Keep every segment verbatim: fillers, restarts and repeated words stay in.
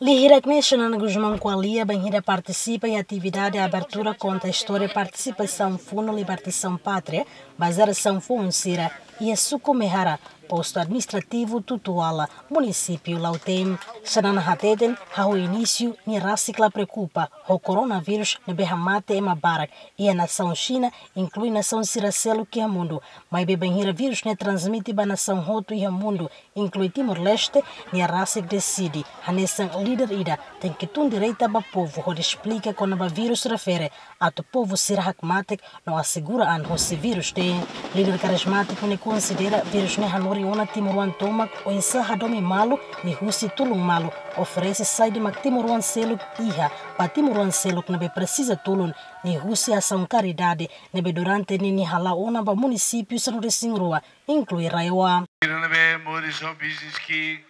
Liuhusi ne'e Xanana Gusmão ko'alia bainhira partisipa iha atividade abertura konta istória partisipasaun Fundo Libertasaun Pátria ba jerasaun foun sira iha Suku Mehara, postu administrativu Tutuala, munisípiu Lautém. Xanana hateten, hahú inísiu nia rasik la preokupa ho koronavírus ne'ebé hamate ema barak iha nasaun Xina, inklui nasaun sira seluk iha mundu. Maibé bainhira vírus ne'e transmite ba nasaun hotu iha mundu, inklui Timor-Leste, nia rasik deside, hanesan líder ida, tenke tun direta ba povu hodi esplika kona-ba vírus refere, atu povu sira hakmatek no asegura an husi vírus ne'e. Líder karizmátiku ne'e konsidera vírus ne'e hanorin ona timoroan tomak oinsá hadomi malu, liuhusi tulun malu, oferese saida mak timoroan seluk iha ba timoroan seluk ne'ebé presiza tulun, liuhusi asaun karidade ne'ebé durante ne'e nia hala'o ona ba munisípiu sanulu-resin-rua, inklui RAEOA. Sira ne'ebé moris ho business ki'ik,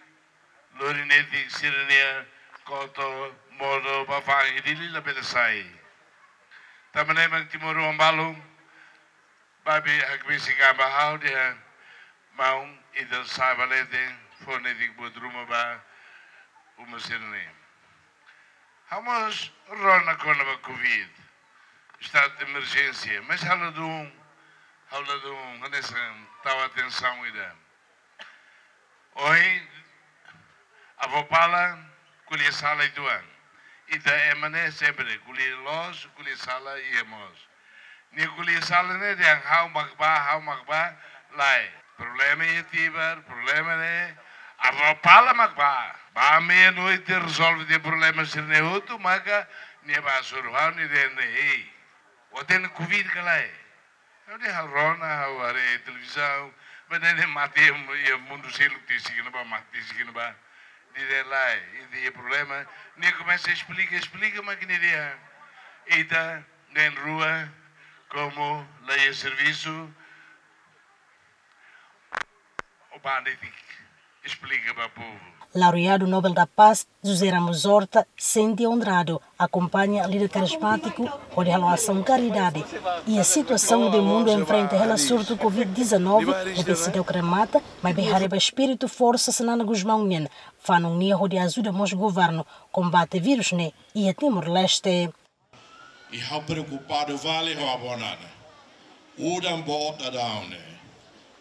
lori netik sira-nia koto, modo, ba fa'an iha Dili labele sai. Tanba ne'e mak timoroan balu, babe hakbesik an ba ha'u dehan, maun, ita sa'e ba leten, fó netik buat ruma ba uma sira-ne'e. Ha'u mós rona kona-ba Covid, estadu de emerjénsia, mas ha'u ladún, ha'u ladún, hanesan tau atensaun ida. Ohin, avó Pala ko'alia sala uitoan. Ita ema ne'e sempre ko'alia loos, ko'alia sala iha mós. Nia ko'alia sala ne'e dehan ha'u mak bá, ha'u mak bá, lae. Problema iha Tibar, problema ne'e. Avó Pala mak bá. Bá meia-noite rezolve de'it problema sira-ne'e hotu, maka nia bá hasoru ha'u, nia dehan ne'e, ei, ó iha Covid ka lae? Ha'u dehan ha'u rona, ha'u haree televizaun, maibé ne'e mate iha, iha mundu seluk, te significa ba mate, te significa ba. Nia dehan lae, ita iha problema. Nia komesa esplika, esplika, mak nia dehan, ita na'in-rua, komu la iha servisu, ó bá netik esplika ba povu. Laureadu Nobel da Paz, José Ramos Horta, sente onradu akompaña líder karizmátiku hodi halo asaun karidade iha situasaun ne'ebé mundu enfrenta hela surtu Covid dezanove, ne'ebé seidauk remata, maibé haree ba espíritu forsa Xanana Gusmão nian, fanun nia hodi ajuda mós governu kombate vírus ne'e iha Timor-Leste. I ha'u preokupadu fali ho avó Nana. Udan boot daudaun ne'e.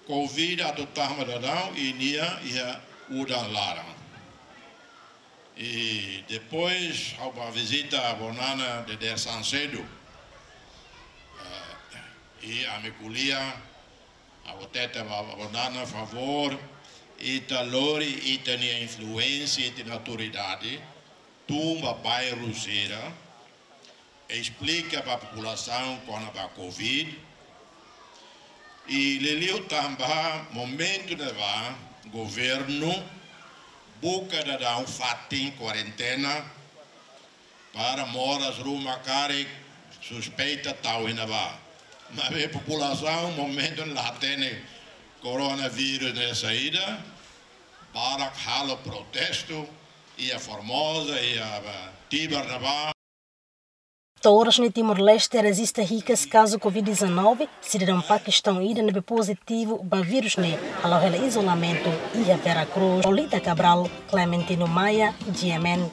Covid atu tama daudaun i nia iha udan laran. I depois ha'u bá vizita avó Nana dadeer-saan sedu. Eh, i ami ko'alia, ha'u hatete ba avó Nana, favór, ita lori ita-nia influénsia, ita-nia autoridade, tun ba bairru sira, esplika ba populasaun kona-ba Covid. I liuliu tanba momentu ne'ebá governu buka daudaun fatin kuarentena para moras ruma karik suspeita tau iha ne'ebá. Maibé populasaun momentu ne'e la hatene koronavírus ne'e saida, barak halo protestu iha Formosa, iha, eh, Tibar ne'ebá. To'o oras ne'e Timor-Leste rejista hikas kazu Covid dezanove, sidadaun Pakistaun ida ne'ebé pozitivu ba vírus ne'e, hala'o hela izolamentu iha Vera Cruz. Lolita Cabral, Clementino Maia, G M N.